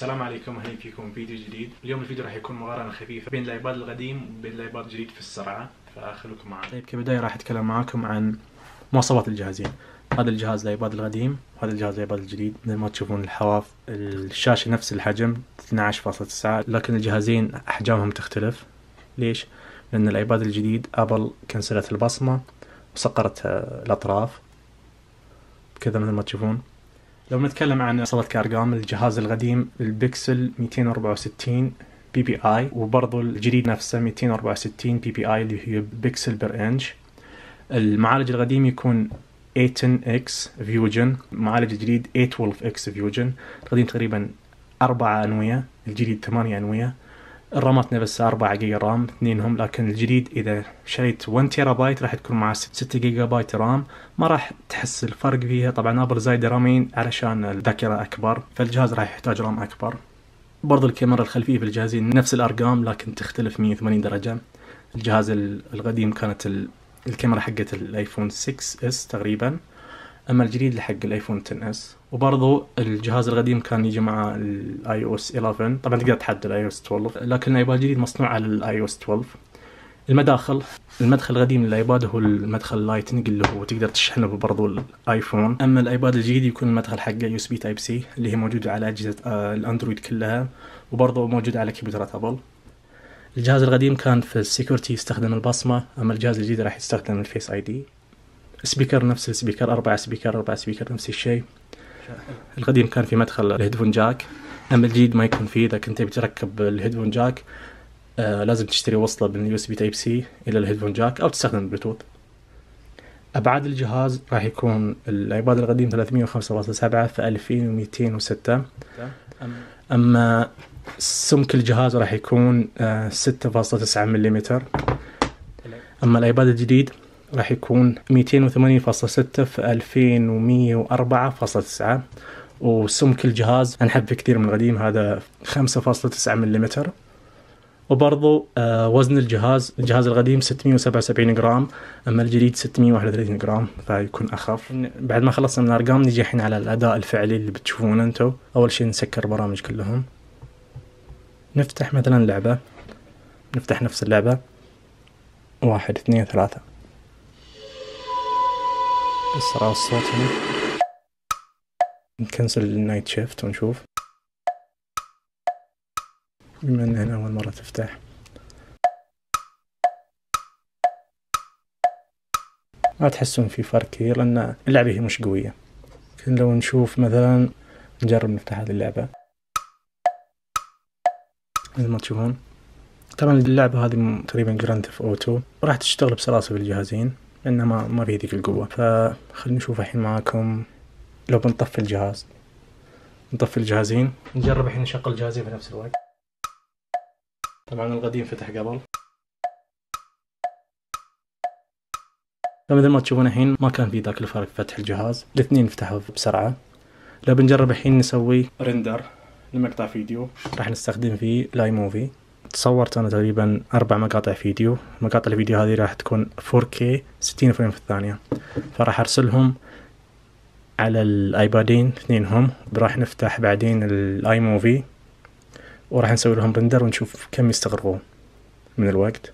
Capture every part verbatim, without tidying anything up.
السلام عليكم، اهلا فيكم فيديو جديد. اليوم الفيديو راح يكون مقارنة خفيفة بين الايباد القديم وبين الايباد الجديد في السرعة، فخلوكم معي. طيب كبداية راح اتكلم معاكم عن مواصفات الجهازين. هذا الجهاز الايباد القديم وهذا الجهاز الايباد الجديد. مثل ما تشوفون الحواف الشاشة نفس الحجم اثني عشر فاصلة تسعة، لكن الجهازين احجامهم تختلف. ليش؟ لان الايباد الجديد ابل كنسلت البصمة وصقرت الاطراف كذا مثل ما تشوفون. لو نتكلم عن مواصفات كأرقام، الجهاز القديم البكسل مئتين وأربعة وستين بي بي اي، وبرضو الجديد نفسه مئتين وأربعة وستين بي بي اي اللي هي بكسل بير انش. المعالج القديم يكون ثمانية عشر اكس فيوجن، المعالج الجديد ثمانية اثنا عشر اكس فيوجن. القديم تقريبا أربعة أنوية، الجديد ثمانية أنوية. الرامات نفسها أربعة جيجا رام اثنينهم، لكن الجديد إذا شريت واحد تيرا بايت راح تكون مع ستة جيجا بايت رام. ما راح تحس الفرق فيها، طبعا ابل زايدة رامين علشان الذاكرة أكبر، فالجهاز راح يحتاج رام أكبر. برضو الكاميرا الخلفية في الجهازين نفس الأرقام لكن تختلف مئة وثمانين درجة. الجهاز القديم كانت الكاميرا حقت الايفون ستة اس تقريبا، اما الجديد لحق الايفون عشرة اس. وبرضو الجهاز القديم كان يجي مع الاي او اس إحدى عشر، طبعا تقدر تحدد الاي او اس اثني عشر، لكن الايباد الجديد مصنوع على الاي او اس اثني عشر. المداخل، المدخل القديم للايباد هو المدخل اللايتنج اللي هو تقدر تشحنه برضو الايفون، اما الايباد الجديد يكون المدخل حقه يو اس بي تايب سي اللي هي موجوده على اجهزه آه الاندرويد كلها، وبرضو موجوده على كمبيوترات ابل. الجهاز القديم كان في السيكورتي يستخدم البصمه، اما الجهاز الجديد راح يستخدم الفيس اي دي. سبيكر نفس السبيكر، أربعة سبيكر أربعة سبيكر نفس الشيء. القديم كان في مدخل الهيدفون جاك، أما الجديد ما يكون فيه. إذا كنت بتركب الهيدفون جاك آه لازم تشتري وصلة من اليو اس بي تايب سي إلى الهيدفون جاك أو تستخدم البلوتوث. أبعاد الجهاز راح يكون الأيباد القديم ثلاثمئة وخمسة فاصلة سبعة في ألفين ومئتين وستة، أما سمك الجهاز راح يكون آه ستة فاصلة تسعة ملم. أما الأيباد الجديد راح يكون مئتين وثمانية فاصلة ستة في ألفين ومئة وأربعة فاصلة تسعة، وسمك الجهاز أنحب كثير من القديم، هذا خمسة فاصلة تسعة ملم. وبرضو آه وزن الجهاز، الجهاز القديم ستمئة وسبعة وسبعين جرام، أما الجديد ستمئة وواحد وثلاثين جرام، فيكون أخف. بعد ما خلصنا من الأرقام نجي الحين على الأداء الفعلي اللي بتشوفونه أنتو. أول شيء نسكر برامج كلهم، نفتح مثلا لعبة، نفتح نفس اللعبة، واحد اثنين ثلاثة، اسرع الصوت هنا. نكنسل النايت شيفت ونشوف، بما ان هنا اول مرة تفتح. ما تحسون في فرق كثير لان اللعبة هي مش قوية. لكن لو نشوف مثلا، نجرب نفتح هذه اللعبة مثل ما تشوفون. طبعا اللعبة هذه تقريبا جراند ثيفت اوتو، راح تشتغل بسلاسة بالجهازين لأنها ما ما في ذيك القوة. فخلينا نشوف الحين معاكم. لو بنطفي الجهاز، نطفي الجهازين، نجرب الحين نشغل الجهازين في نفس الوقت. طبعا القديم فتح قبل، فمثل ما تشوفون الحين ما كان في ذاك الفرق فتح الجهاز، الاثنين فتحوا بسرعة. لو بنجرب الحين نسوي رندر لمقطع فيديو، راح نستخدم فيه لاي موفي. تصورت أنا تقريبا أربع مقاطع فيديو، مقاطع الفيديو هذه راح تكون فور كي ستين فريم في الثانية، فراح أرسلهم على الايبادين اثنينهم. راح نفتح بعدين الاي موفي وراح نسوي لهم رندر ونشوف كم يستغرقون من الوقت.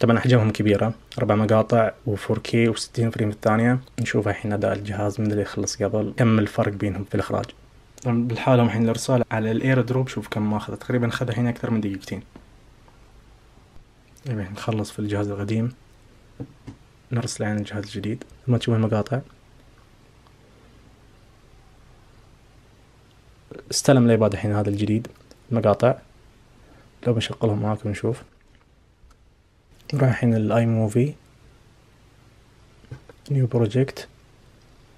طبعا احجامهم كبيرة، اربع مقاطع وفور كي وستين فريم في الثانية. نشوف الحين اداء الجهاز من اللي يخلص قبل، كم الفرق بينهم في الاخراج. طبعا بالحالة الحين الارسال على الاير دروب، شوف كم ما اخذ، تقريبا اخذ الحين اكثر من دقيقتين. طيب نخلص في الجهاز القديم، نرسل عن الجهاز الجديد. ما تشوفون المقاطع، استلم الايباد الحين هذا الجديد المقاطع. لو بنشغلهم معاكم نشوف. نروح الحين الاي موفي، نيو بروجكت،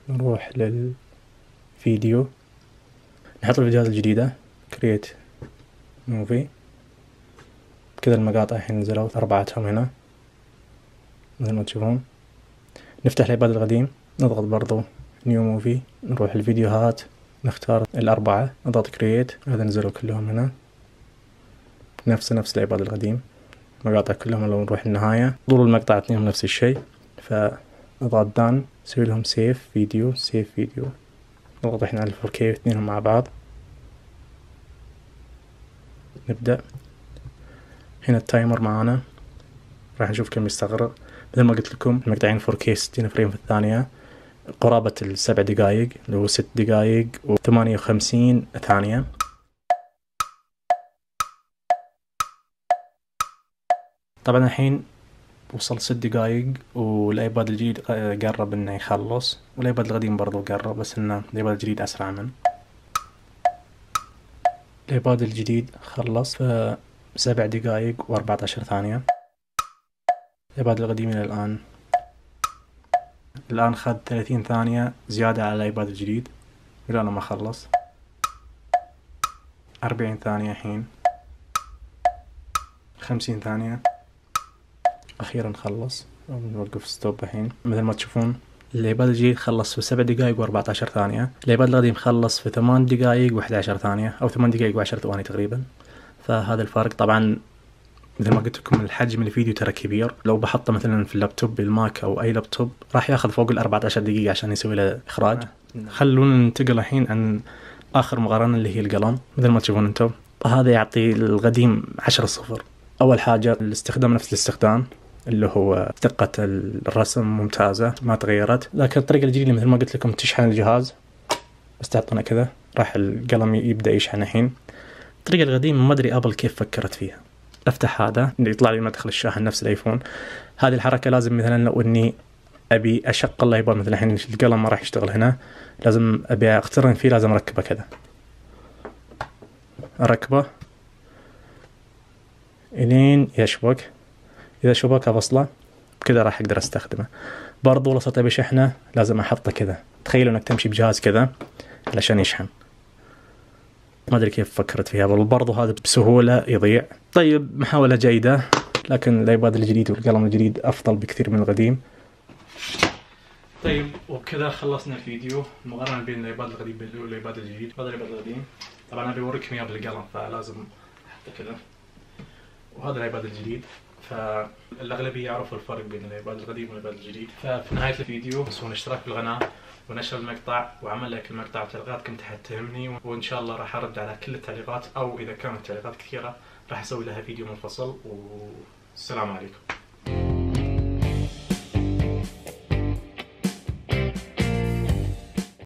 نروح للفيديو، نحط الفيديوهات الجديدة، كرييت موفي. كذا المقاطع الحين نزلوا أربعتهم هنا مثل ما تشوفون. نفتح الايباد القديم، نضغط برضو نيو موفي، نروح الفيديوهات، نختار الأربعة، نضغط كرييت. هذا نزلوا كلهم هنا نفس نفس الايباد القديم، مقاطع كلهم. لو نروح النهاية طول المقطع اثنينهم نفس الشيء، فنضغط دان، نسوي لهم سيف فيديو، سيف فيديو، نضغط احنا على الفور كي اثنينهم مع بعض. نبدأ. هنا التايمر معانا، راح نشوف كم يستغرق. مثل ما قلت لكم المقطعين فور كيه ستين فريم في الثانية، قرابة السبع دقايق اللي هو ست دقايق وثمانية وخمسين ثانية. طبعا الحين وصل ست دقايق والايباد الجديد قرب انه يخلص، والايباد القديم برضو قرب، بس انه الايباد الجديد اسرع منه. الايباد الجديد خلص في سبع دقايق واربعة عشر ثانية. الايباد القديم الى الان الان خد ثلاثين ثانية زيادة على الايباد الجديد الى ما خلص. أربعين ثانية الحين، خمسين ثانية، اخيرا خلص. نوقف ستوب الحين. مثل ما تشوفون الايباد الجديد خلص في سبع دقايق واربعة عشر ثانية، الايباد القديم خلص في ثمان دقايق واحد عشر ثانية او ثمان دقايق وعشر ثواني تقريبا. فهذا الفرق. طبعا مثل ما قلت لكم الحجم الفيديو ترى كبير، لو بحطه مثلا في اللابتوب الماك او اي لابتوب راح ياخذ فوق ال أربعة عشر دقيقة عشان يسوي له اخراج. خلونا ننتقل الحين عن اخر مقارنة اللي هي القلم. مثل ما تشوفون انتم هذا يعطي القديم عشرة صفر. اول حاجة الاستخدام نفس الاستخدام اللي هو دقة الرسم ممتازة ما تغيرت، لكن الطريقة الجديدة مثل ما قلت لكم تشحن الجهاز بس تعطينا كذا راح القلم يبدأ يشحن الحين. الطريقة القديمة ما ادري ابل كيف فكرت فيها. افتح هذا اللي يطلع لي مدخل الشاحن نفس الايفون. هذه الحركة لازم مثلا لو اني ابي اشغل الايباد مثلا الحين القلم ما راح يشتغل هنا، لازم ابي اقترن فيه، لازم اركبه كذا، اركبه الين يشبك. اذا شبك افصله كذا راح اقدر استخدمه. برضو لو صرت ابي شحنه لازم احطه كذا. تخيلوا انك تمشي بجهاز كذا علشان يشحن. ما ادري كيف فكرت فيها، برضو هذا بسهولة يضيع. طيب محاولة جيدة، لكن الايباد الجديد والقلم الجديد افضل بكثير من القديم. طيب وبكذا خلصنا الفيديو مقارنة بين الايباد القديم والايباد الجديد. هذا الايباد القديم طبعا ابي اوريكم اياه بالقلم فلازم احطه كذا، وهذا الايباد الجديد. فالاغلبيه يعرفوا الفرق بين الايباد القديم والايباد الجديد. ففي نهايه الفيديو تنسون الاشتراك بالقناه ونشر المقطع وعمل لايك المقطع وتعليقاتكم تحت تهمني، وان شاء الله راح ارد على كل التعليقات، او اذا كانت تعليقات كثيره راح اسوي لها فيديو منفصل. والسلام عليكم.